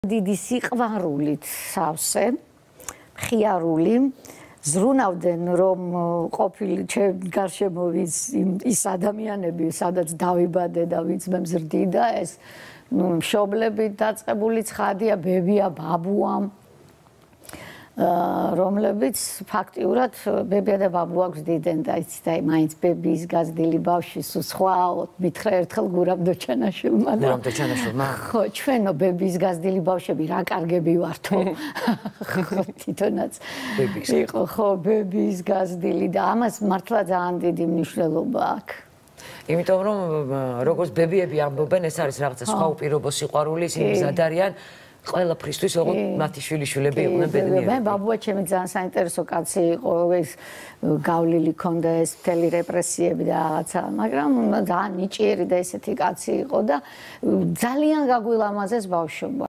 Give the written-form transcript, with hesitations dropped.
დიდი სიყვარულით სავსე, მხიარული, ზრუნავდნენ რომ ყოფილი გარშემო ის ადამიანები, სადაც დავიბადე და ვინც მე მზრდიდა ეს მშობლებით დაწყებული ცხადია, ბებია, ბაბუა, რომლებიც ფაქტიურად ბებია და ბაბუა გვზდიდნენ და იცით აი მაინც ბებიის გაზრდილი ბავშვი სხვა მითხრა ერთხელ გურამ დოჩანაშვილმა და გურამ დოჩანაშვილმა ხო ჩვენო ბებიის გაზრდილი ბავშვები რა კარგები ვართო ხო თვითონაც იყო ხო ბებიის გაზრდილი და ამას მართლა ძალიან დიდი მნიშვნელობა აქვს იმიტომ რომ როგორც ბებიები ამბობენ ეს არის რაღაცა სხვა უპირობო სიყვარული ისინი მზად არიან ყველაფრისთვის ოღონდ მათი შვილიშვილები იყვნენ ბედნიერები. მე ბაბუა ჩემი ძალიან საინტერესო კაცი იყო, ეს გავლილი ქონდა ეს მთელი რეპრესიები და რაღაცა, მაგრამ ძალიან ნიჭიერი და ესეთი კაცი იყო და ძალიან გაგვილამაზეს ბავშვობა.